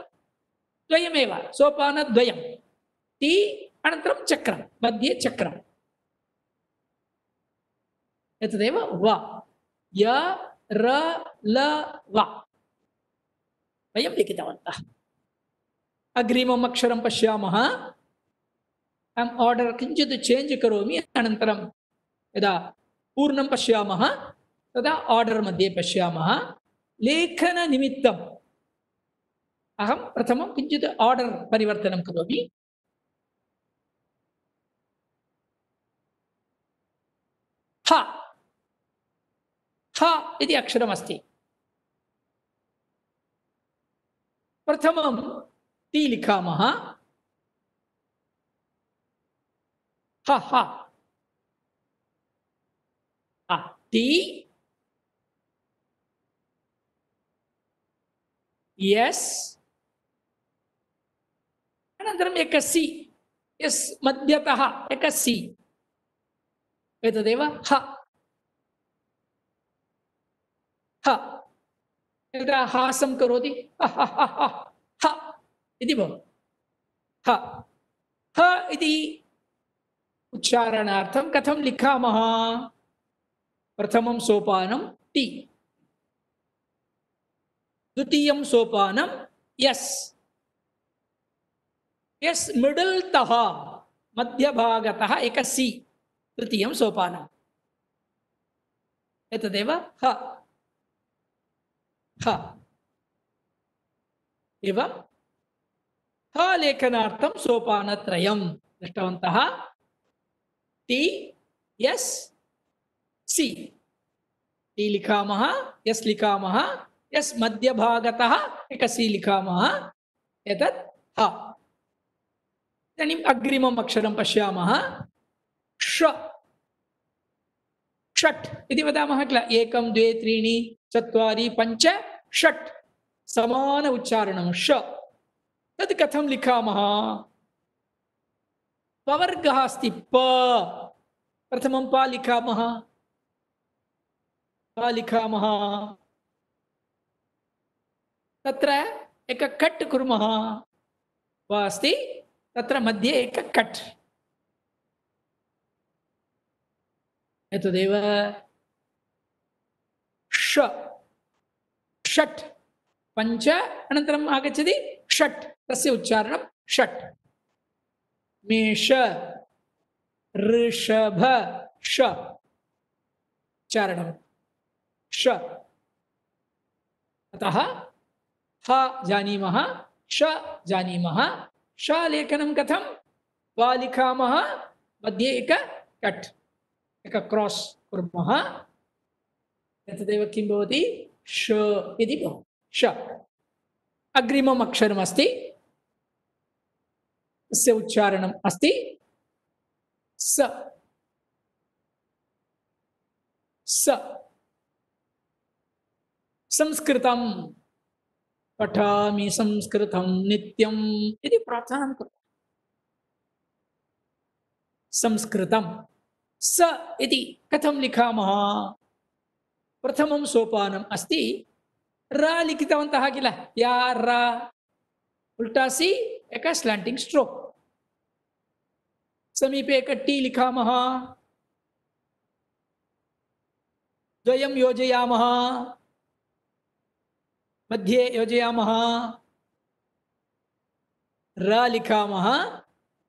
द्वयमेव, सोपानद्वयं, टी अनन्तरं चक्रं, मध्ये चक्रम्, एतदेव व। य र ल व वयं लिखितवन्तः। अग्रिमम् अक्षरं पश्यामः। अहम् आर्डर् किञ्चित् चेञ्ज् करोमि, अनन्तरं यदा पूर्णं पश्यामः तदा आर्डर् मध्ये पश्यामः। लेखननिमित्तं अहं प्रथमं किञ्चित् आर्डर् परिवर्तनं करोमि। ह ह इति अक्षरमस्ति। प्रथमं ति लिखामः। ह ह ति यस् अनन्तरम् एकः सि यस् मध्यतः एकः सि एतदेव ह ह यदा हासं करोति ह ह ह ह ह इति भवति। ह ह इति उच्चारणार्थं कथं लिखामः? प्रथमं सोपानं ति, द्वितीयं सोपानं यस् यस् मिडल् तः मध्यभागतः एकः सि तृतीयं सोपानम् एतदेव ह ह एवं ह लेखनार्थं सोपानत्रयं दृष्टवन्तः। ति यस् सि ति लिखामः, यस् लिखामः, यस् मध्यभागतः एकः सि लिखामः, एतत् ह। इदानीम् अग्रिमम् अक्षरं पश्यामः। ष षट् इति वदामः किल, एकं द्वे त्रीणि चत्वारि पञ्च षट् समान उच्चारणं ष। तत् कथं लिखामः? पवर्गः अस्ति प, प्रथमं प लिखामः, प लिखामः, तत्र एकं कट् कुर्मः, प अस्ति तत्र मध्ये एकं कट्, एतदेव ष षट् पञ्च अनन्तरम् आगच्छति षट्, तस्य उच्चारणं षट्। मेष ऋषभ ष उच्चारणं ष। अतः ह जानीमः, ष जानीमः। ष लेखनं कथं? वा लिखामः, मध्ये एक कट्, एक क्रॉस् कुर्मः, एतदेव किं भवति? ष इति भवति। ष अग्रिमम् अक्षरमस्ति, तस्य उच्चारणम् अस्ति स स। संस्कृतं पठामि संस्कृतं नित्यम् इति प्रार्थनां कुर्मः। संस्कृतं स इति कथं लिखामः? प्रथमं सोपानम् अस्ति, र लिखितवन्तः किल, या र उल्टा सी एक स्लैंटिंग स्ट्रोक, समीपे एक टी लिखामः, द्वयं योजयामः, मध्ये योजयामः, र लिखामः,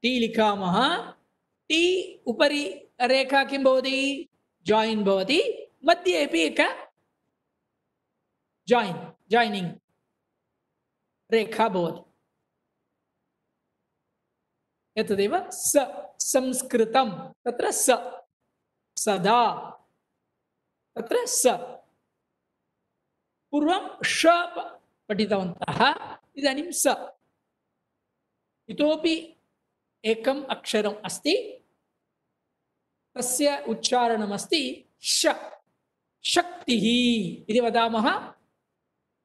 टी लिखामः, टी उपरि रेखा किं भवति? जॉइन भवति, मध्ये अपि एक जॉइनिंग रेखा भवति, एतदेव स संस्कृतं। तत्र स सदा, तत्र स पूर्वं ष पठितवन्तः, इदानीं स। इतोपि एकम् अक्षरम् अस्ति, तस्य उच्चारणमस्ति श, शक्तिः इति वदामः।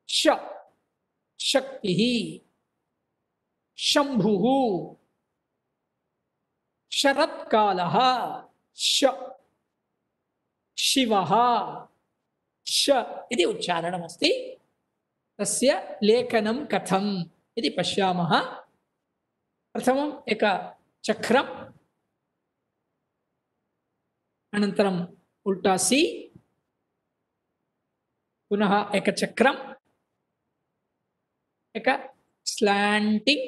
श शक्तिः, शम्भुः, शरत्कालः श, शिवः श इति उच्चारणमस्ति। तस्य लेखनं कथम् इति पश्यामः। प्रथमम् एक चक्रम्, अनन्तरम् उल्टा सी, पुनः एक चक्रम्, एक स्लैंटिंग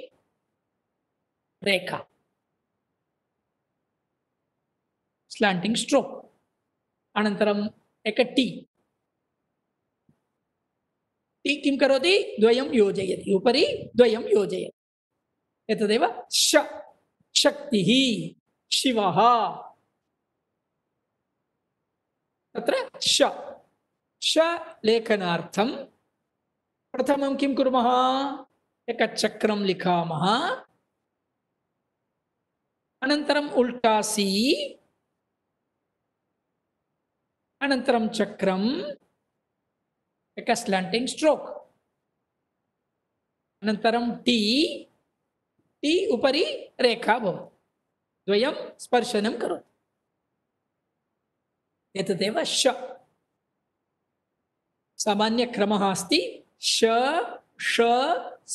रेखा, स्लैंटिंग स्ट्रोक, अनन्तरम् एक टी, टी किं करोति द्वयं योजयति उपरि द्वयं योजयति एतदेव शक्तिः शिवः तत्र श लेखनार्थं प्रथमं किं कुर्मः एकचक्रं लिखामः अनन्तरम् उल्टा सी अनन्तरं चक्रम् एक स्लांटिंग स्ट्रोक अनन्तरं टी उपरि रेखा भवति द्वयं स्पर्शनं करोति एतदेव सामान्यक्रमः अस्ति श ष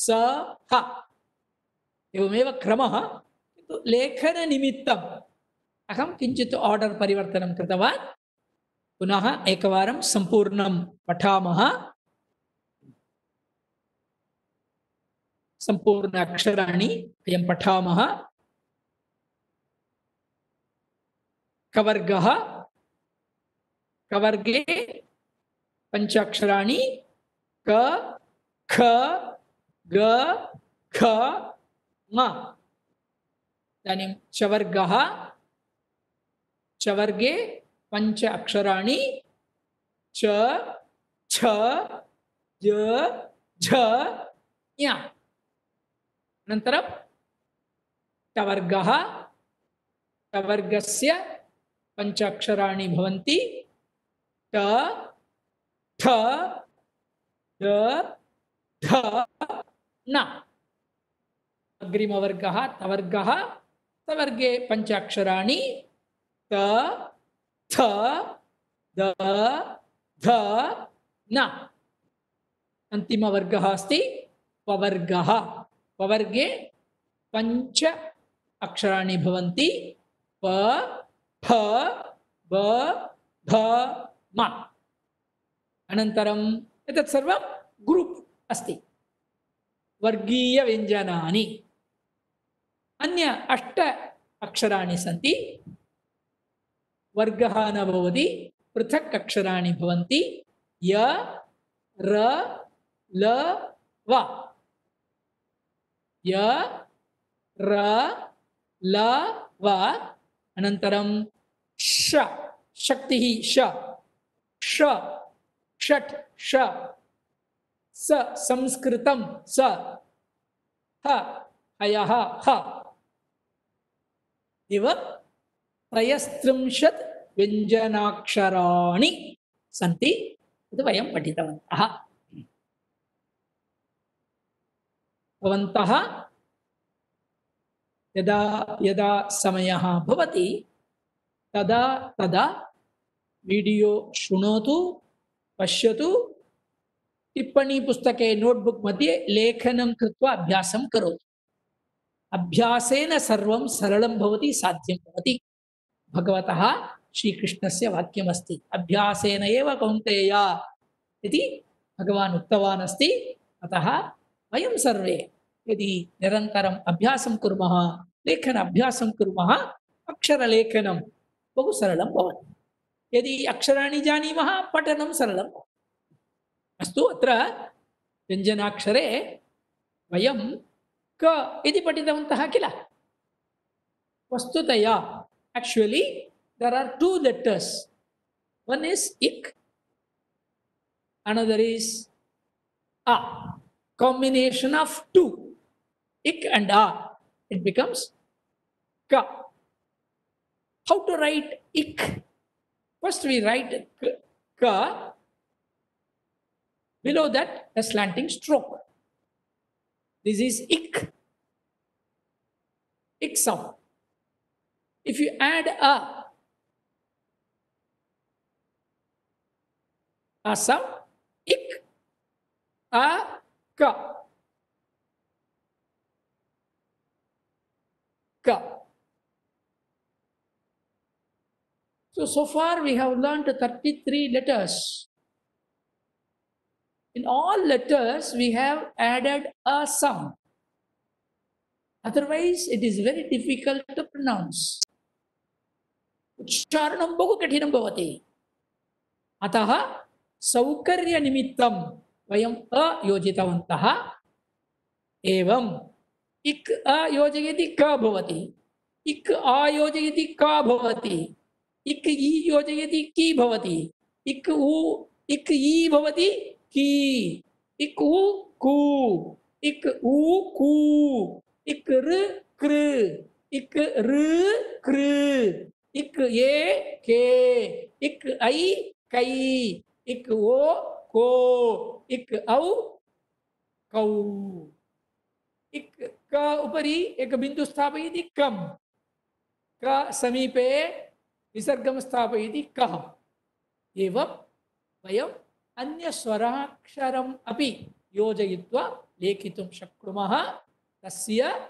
स ह एवमेव क्रमः किन्तु लेखननिमित्तम् अहं किञ्चित् आर्डर् परिवर्तनं कृतवान् पुनः एकवारं सम्पूर्णं पठामः सम्पूर्ण अक्षराणि वयं पठामः कवर्गः कवर्गे पंचाक्षराणि क ख ग घ ङ इदानीं चवर्गः चवर्गे पंच अक्षराणि च छ ज झ ञ अनन्तरं टवर्गः टवर्गस्य पंच अक्षराणि भवन्ति ट ठ ड ध न अग्रिमवर्गः तवर्गः तवर्गे पंच अक्षराणि त थ द ध न अन्तिमवर्गः अस्ति पवर्गः पवर्गे पंच अक्षराणि भवन्ति प फ ब भ म अनन्तरम् एतत् सर्वं ग्रुप् अस्ति वर्गीयव्यञ्जनानि अन्य 8 अक्षराणि सन्ति वर्गः न भवति पृथक् अक्षराणि भवन्ति य र ल व य र ल व अनन्तरं शक्तिः ष षट् ष स संस्कृतं स ह हयः ह एवं 33 व्यञ्जनाक्षराणि सन्ति इति वयं पठितवन्तः भवन्तः यदा यदा समयः भवति तदा तदा वीडियो शृणोतु पश्यतु टिप्पणी पुस्तके नोटबुक मध्ये लेखनं कृत्वा अभ्यासं करोतु अभ्यासेन सर्वं सरलं भवति साध्यं भवति भगवतः श्रीकृष्णस्य वाक्यमस्ति अभ्यासेन एव कौन्तेय इति भगवान् उक्तवान् अस्ति अतः वयं सर्वे यदि निरन्तरम् अभ्यासं कुर्मः लेखन अभ्यासं कुर्मः अक्षरलेखनं बहु सरलं भवति यदि अक्षराणि जानीमः पठनं सरलं भवति अस्तु अत्र व्यञ्जनाक्षरे वयं क इति पठितवन्तः किल वस्तुतया actually there are 2 letters one is ik another is a combination of 2 ik and a it becomes ka how to write ik first we write ka below that a slanting stroke this is ik sound if you add a sound ik a ka ka so far we have learned 33 letters in all letters we have added a sound otherwise it is very difficult to pronounce उच्चारणं बहु कठिनं भवति अतः सौकर्यनिमित्तं वयम् अ योजितवन्तः। एवम् इक् अ योजयति क भवति, इक् आ योजयति क भवति, इक् इ योजयति कि भवति, इक् इ भवति की, इक् उ कु, इक् उ कु, इक् ऋ कृ, इक् ऋ कृ, इक् ए के, इक् ऐ कै, इक् ओ को, इक् औ कौ। इक् क उपरि एक बिंदु स्थापयति कम, क समीपे विसर्गं स्थापयति कः। एवं वयम् अन्यस्वराक्षरम् अपि योजयित्वा लेखितुं शक्नुमः। तस्य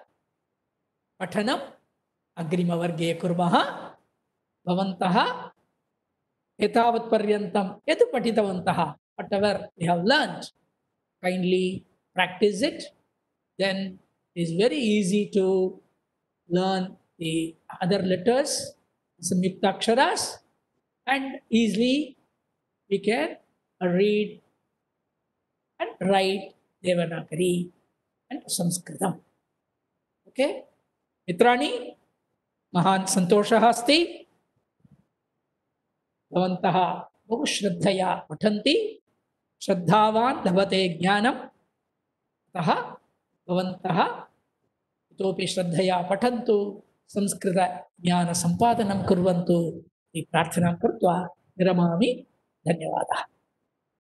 पठनम् अग्रिमवर्गे कुर्मः। भवन्तः एतावत्पर्यन्तं यत् पठितवन्तः, whatever we have learned, kindly practice it, then it is very easy to learn the other letters, samyukta aksharas, and easily we can read and write Devanagari and Sanskritam. Okay, मित्राणि, महान् सन्तोषः अस्ति। भवन्तः बहु श्रद्धया पठन्ति, श्रद्धावान् लभते ज्ञानम्। अतः भवन्तः इतोपि श्रद्धया पठन्तु, संस्कृतज्ञानसम्पादनं कुर्वन्तु इति प्रार्थनां कृत्वा विरमामि। धन्यवादः।